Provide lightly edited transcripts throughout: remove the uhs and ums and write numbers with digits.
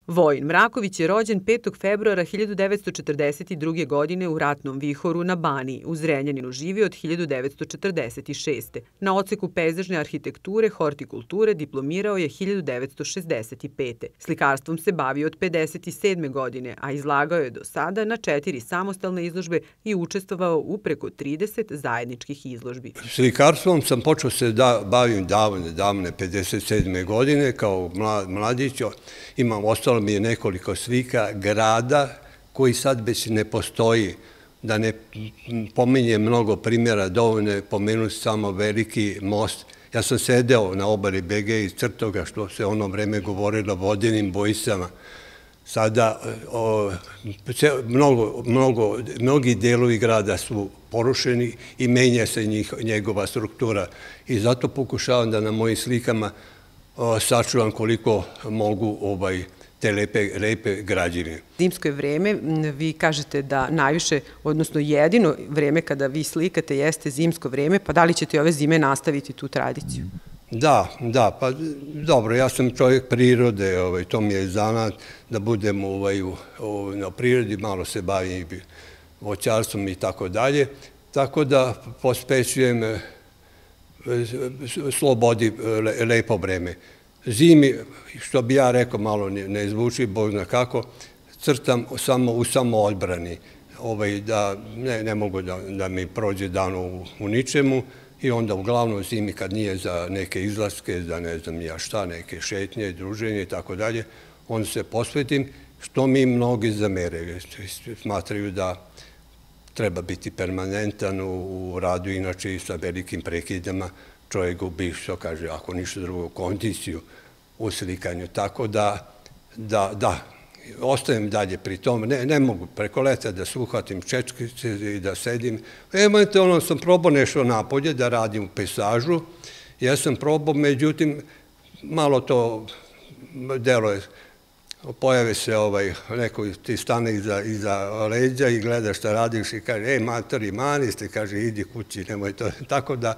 Vojin Mraković je rođen 5. februara 1942. godine u Ratnom Vihoru na Baniji. U Zrenjaninu živi od 1946. Na odseku pejzažne arhitekture, hortikulture diplomirao je 1965. Slikarstvom se bavio od 57. godine, a izlagao je do sada na 4 samostalne izložbe i učestvovao u preko 30 zajedničkih izložbi. Slikarstvom sam počeo se bavim davne 57. godine kao mladić. Ostalo mi je nekoliko slika grada koji sad već ne postoji. Da ne pominjem mnogo primjera, dovoljno je pomenuti samo veliki most. Ja sam sedeo na obali Begej i crtao ga, što se ono vreme govorilo, vodenim bojicama. Sada mnogi delovi grada su porušeni i menja se njegova struktura. I zato pokušavam da na mojim slikama sačuvam koliko mogu te lepe građevine. Zimsko je vreme, vi kažete da najviše, odnosno jedino vreme kada vi slikate jeste zimsko vreme, pa da li ćete ove zime nastaviti tu tradiciju? Da, pa dobro, ja sam čovjek prirode, to mi je zanat da budem na prirodi, malo se bavim voćarstvom i tako dalje, tako da posvećujem slobodi lepo vreme. Zimi, što bi ja rekao, malo ne zvuči, Bog zna kako, crtam u samoodbrani, da ne mogu da mi prođe dan u ničemu i onda uglavnom zimi kad nije za neke izlaske, za ne znam ja šta, neke šetnje, druženje i tako dalje, onda se posvetim, što mi mnogi zameraju, smatraju da treba biti permanentan u radu, inače i sa velikim prekidama čovjek gubi, što kaže, ako ništa drugo, kondiciju u slikanju. Tako da, ostajem dalje pri tom. Ne mogu preko leta da se uhvatim čečkice i da sedim. Eventualno sam probao nešto napolje da radim u pejzažu. Ja sam probao, međutim, malo to deluje. Pojave se neko ti stane iza leđa i gleda šta radiš i kaže, matori, mani ste, kaže, idi kući, nemoj to. Tako da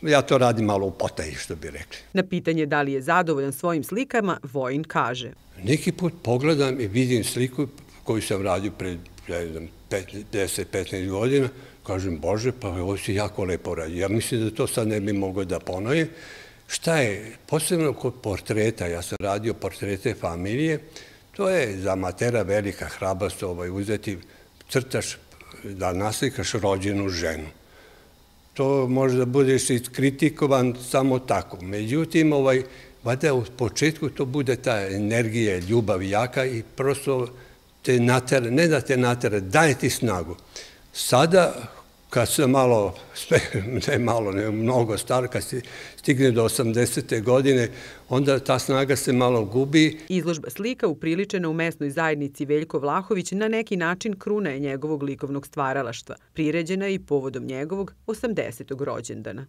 ja to radim malo u potaji, što bi rekli. Na pitanje da li je zadovoljan svojim slikama, Vojin kaže. Neki put pogledam i vidim sliku koju sam radio pred 10-15 godina, kažem, Bože, pa ovo si jako lepo radio. Ja mislim da to sad ne bi mogao da ponovim. Šta je, posebno kod portreta, ja sam radio portrete familije, to je za amatera velika hrabrost uzeti, crtaš da naslikaš rođenu ženu. To može da budeš kritikovan samo tako. Međutim, valjda u početku to bude ta energija, ljubav jaka i prosto te natera, ne da te natera, daje ti snagu. Sada, kad se mnogo star, kad se stigne do 80. godine, onda ta snaga se malo gubi. Izložba slika upriličena u mesnoj zajednici Veljko Vlahović na neki način kruna je njegovog likovnog stvaralaštva, priređena i povodom njegovog 80. rođendana.